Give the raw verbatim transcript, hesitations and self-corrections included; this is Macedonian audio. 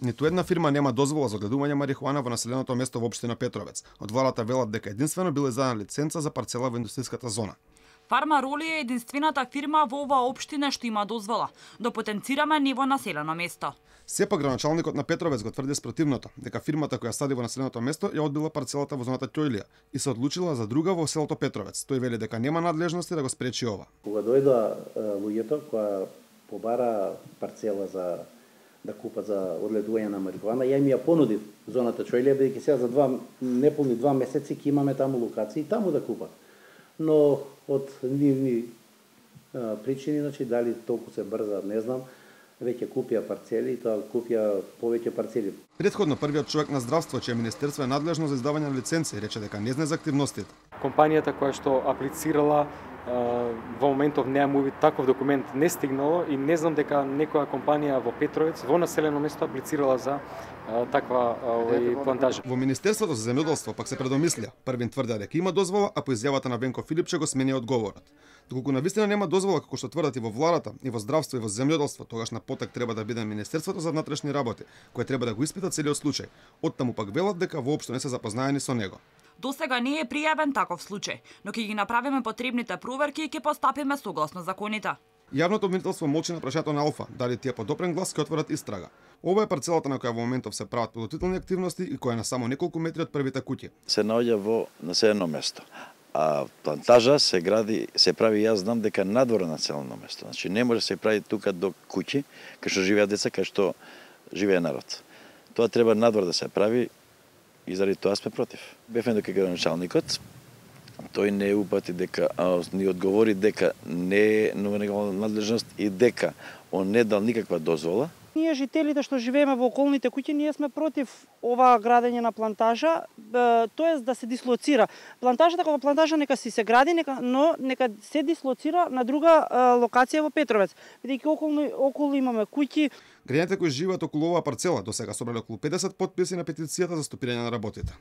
Ниту една фирма нема дозвола за одгледување марихуана во населеното место во општина Петровец. Од владата велат дека единствено биле издадена лиценца за парцела во индустријската зона. Фарма Роли е единствената фирма во оваа општина што има дозвола да потенцираме ниво населено место. Сепак градоначалникот на Петровец го тврди спротивното, дека фирмата која сади во населеното место ја одбила парцелата во зоната Ќојлија и се одлучила за друга во селото Петровец. Тој вели дека нема надлежности да го спречи ова. Кога дојдоа луѓето која побара парцела за да купат за одгледување на марихуана, ја им ја понудив зоната Ќојлија, бидејќи сега за два неполни два месеци ќе имаме таму локации таму да купат. Но од нивни причини, значи дали толку се брза, не знам, веќе купија парцели и тоа купија повеќе парцели. Претходно првиот човек на здравство, чие министерство е надлежно за издавање на лиценци, рече дека не знае за активностите. Компанијата која што аплицирала во моментов неа му таков документ не стигнало и не знам дека некоја компанија во Петровец во населено место аплицирала за таква овој плантажа. Во Министерството за земјоделство пак се предомислија. Првин тврдеа дека има дозвола, а по изјавата на Венко Филипче го смени одговорот. Доколку навистина нема дозвола како што тврдат и во владата, и во здравство и во земјоделство, тогаш на потек треба да биде Министерството за внатрешни работи, кое треба да го испита целиот случај. Оттаму пак велат дека воопшто не се запознаени со него. До сега не е пријавен таков случај, но ќе ги направиме потребните проверки и ќе постапиме согласно законите. Јавното обвинителство молчи на прашањето на Алфа, дали тие по допрен глас ќе отворат истрага. Ова е парцелата на која во моментов се прават подготвителни активности и која е на само неколку метри од првите куќи. Се наоѓа во населено место, а плантажа се гради, се прави, јас знам дека надвор на населено место. Значи не може се прави тука до куќи, кај што живеат деца, кај што живее народ. Тоа треба надвор да се прави и заради тоа сме против. Бевме дека градоначалникот, тој не упати дека, а, ни одговори дека не е негова надлежност и дека он не дал никаква дозвола. Ние жителите што живееме во околните куќи, ние сме против ова градење на плантажа, тоест да се дислоцира. Плантажата кога плантажа нека си се гради, нека, но нека се дислоцира на друга локација во Петровец, бидејќи околу, околу имаме куќи. Граѓаните кои живеат околу оваа парцела досега собрале околу педесет потписи на петицијата за стопирање на работите.